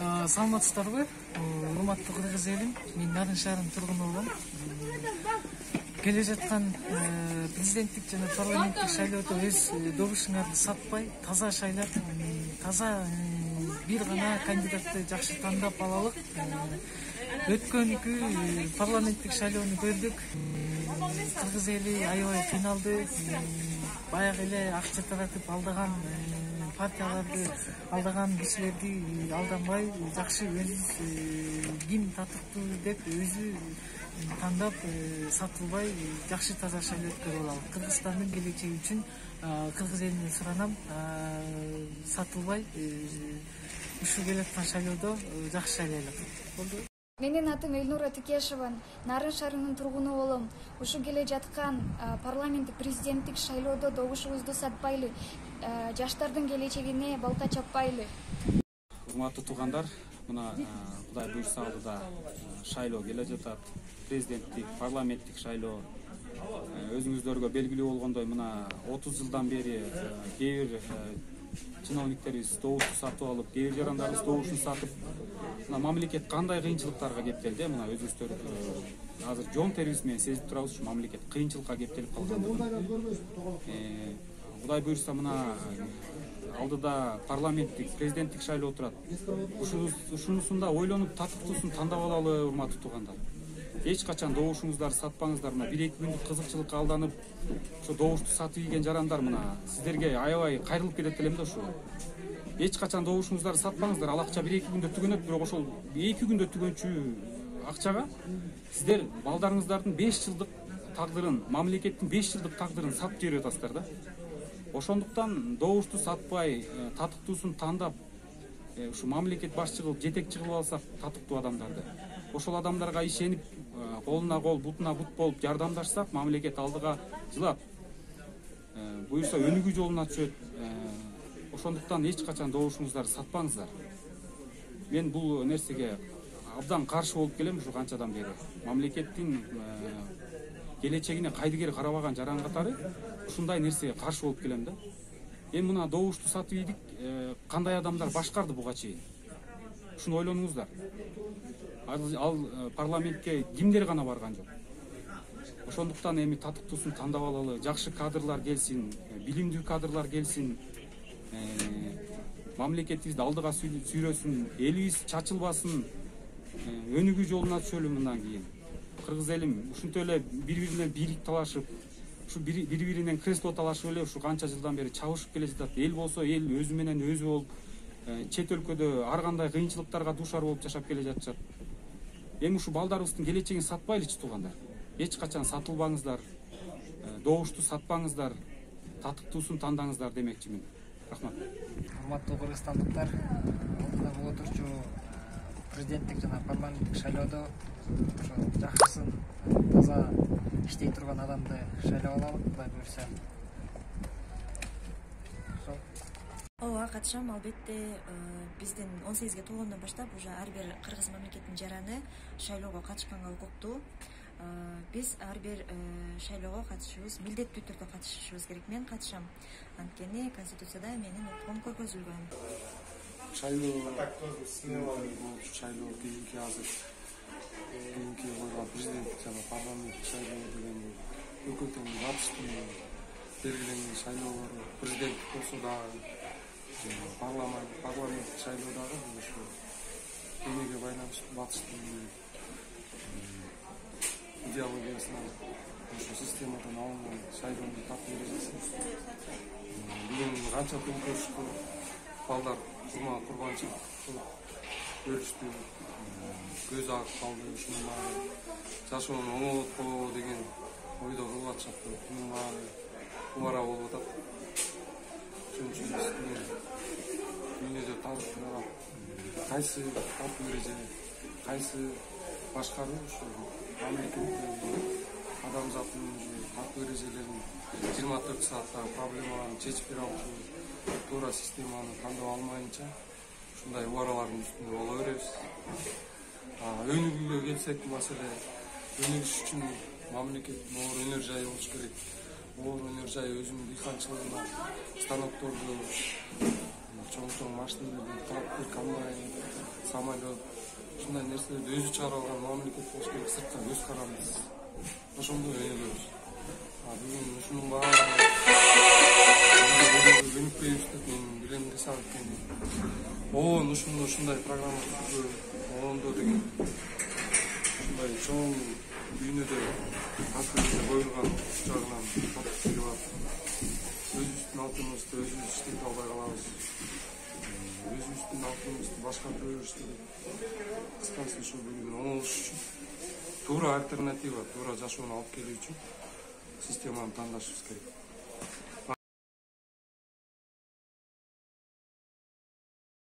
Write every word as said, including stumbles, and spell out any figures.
Саламатсыздарбы, урматтуу кыргыз элим. Мен Нарын шаарынын тургуну болом. Келе жаткан президенттик жана парламенттик шайлоодо өз добушуңарды сатпай, таза шайлап, таза бир гана кандидатты жакшы тандап алалык. Өткөнкү парламенттик шайлоону көрдүк. Кыргыз эли аябай кыйналды. Баягы эле акча таратып алдаган партияларды алдаган кишилерди алданбай, жакшы өзү ким татыктуу деп өзү тандап сатылбай, жакшы таза шайлоо өткөрүп алалы. Кыргызстандын келечеги үчүн кыргыз элине суранам, сатылбай ушул келаткан шайлоодо жакшы шайлайлык. Болду. Менин атым Элнура Текешева, Нарын шаарынын тургуну болом. Ушу келе жаткан парламенттик президенттик шайлоодо добушубузду сатпайлы, жаштардын келечегине балта чаппайлы. Урматтуу туугандар, мына Кудай буйрса алдыда шайлоо келе жатат. Президенттик, парламенттик шайлоо. Өзүңүздөргө белгилүү болгондой, мына отуз жылдан бери кээ бир чиновниктерибиз добушту сатып алып, кээ бир жарандарыбыз добушун сатып, мына мамлекет кандай кыйынчылыктарга кептелди, мына өзүңүздөр азыр жон терибиз менен сезип турабыз, ушу мамлекет кыйынчылыкка кептелип калгандыгын. Кудай буйрса, мына алдыда парламенттик, президенттик шайлоо турат. Ушунусунда ойлонуп, татыктуусун тандап алалы, урматтуу туугандар. Эч качан добушуңуздарды сатпаңыздар. Мына бир эки күндүк кызыкчылыкка алданып, ошо добушту сатып ийген жарандар мына сиздерге аябай кайрылып кетет элем да ошо. Эч качан добушуңуздарды сатпаңыздар. Ал акча бир эки күндө түгөнөт, бирок ошол эки күндө түгөнчү акчага сиздер балдарыңыздардын беш жылдык тагдырын, мамлекеттин беш жылдык тагдырын сатып жиберип атасыздар да. Ошондуктан добушту сатпай, татыктуусун тандап, ушу мамлекет башчы кылып, жетекчи кылып алсак татыктуу адамдарды, ошол адамдарга ишенип, колуна кол, бутуна бут болуп жардамдашсак, мамлекет алдыга жылат. Буюрса өнүгүү жолуна түшөт. Ошондуктан эч качан добушуңуздарды сатпаңыздар. Мен бул нерсеге абдан каршы болуп келем ушу канчадан бери. Мамлекеттин келечегине кайдыгер карабаган жаран катары ушундай нерсеге каршы болуп келем да. Эми мына добушту сатып ийдик, кандай адамдар башкарды буга чейин? Ушуну ойлонуңуздар. Ал парламентке кимдер гана барган жок. Ошондуктан эми татыктуусун тандап алалы, жакшы кадрлар келсин, билимдүү кадрлар келсин, мамлекетибизди алдыга сүйрөсүн, элибиз чачылбасын, өнүгүү жолуна түшөлү мындан кийин. Кыргыз элим ушинтип эле бири-бирине бийлик талашып, ушу бири-биринен кресло талашып эле ушу канча жылдан бери чабышып келе жатат. Эл болсо эл өзү менен өзү болуп, чет өлкөдө ар кандай кыйынчылыктарга дуушар болуп жашап келе жатышат. Эми ушу балдарыбыздын келечегин сатпайлычы туугандар. Эч качан сатылбаңыздар, добушту сатпаңыздар, татыктуусун тандаңыздар демекчимин. Рахмат. Урматтуу кыргызстандыктар, алдыда боло турчу президенттик жана парламенттик шайлоодо ошо жакшысын, таза иштей турган адамды шайлап алалы, Кудай буйрса. Ооба, катышам. Албетте, биздин он сегизге толгондон баштап уже ар бир кыргыз мамлекетинин жараны шайлоого катышканга укуктуу. Биз ар бир шайлоого катышыбыз, милдеттүү түрдө катышышыбыз керек. Мен катышам. Анткени Конституцияда менин укугум көргөзүлгөн. Шайлоо шайлоо кийинки азыр кийинки койгон президенттик жана парламенттик шайлоо деген өкмөттүн батыштын белгиленген шайлоолору, президенттик болсо дагы, парламенттик шайлоо дагы ушу эмеге байланыштуу батыштын идеологиясына, ошо системадан алынган шайлоону тартып бересиз. Бүгүн канча күн көрүштү, балдар курма курбанчылык кылып өлүштү, көз агып калды. Ушунун баары жашоону оңолотпоо деген ойдо кылып атышат. Бунун баары убара болуп атат. Ошон үчүн биз дүйнөдө талкуулап, кайсы тартуу эреже, кайсы башкаруу ушу мамлекеттин адамзаттын тартуу эрежелерин жыйырма төрт сааттагы проблемаларын чечип бере алчу туура системаны тандап алмайынча ушундай убаралардын үстүндө боло беребиз. Өнүгүүгө келсек, маселе өнүгүш үчүн мамлекеттин оор өнөр жайы болуш керек. Оор өнөр жайы өзүнүн дыйканчылыгына станокторду, чоң-чоң машиналарды, трактор, комбайн самолет ушундай нерселерди өзү чыгарып алган мамлекет болуш керек, сыртка көз каранды ошондой өнүгөбүз. Бүгүн ушунун баары өнүкпөйбүз деп мен билем десе алып келдим. Оон ушундай ушундай программа түзүү, оондо деген ушундай чоң дүйнөдө акырында коюлган жагынан катык келип атат. Өзүбүздүн алтыныбызды өзүбүз иштете албай калабыз. Өзүбүздүн алтыныбызды башкартып иштеп. Кыскасы ушу бүгүн оңолуш үчүн туура альтернатива, туура жашоону алып келүү үчүн системаны тандашыбыз керек.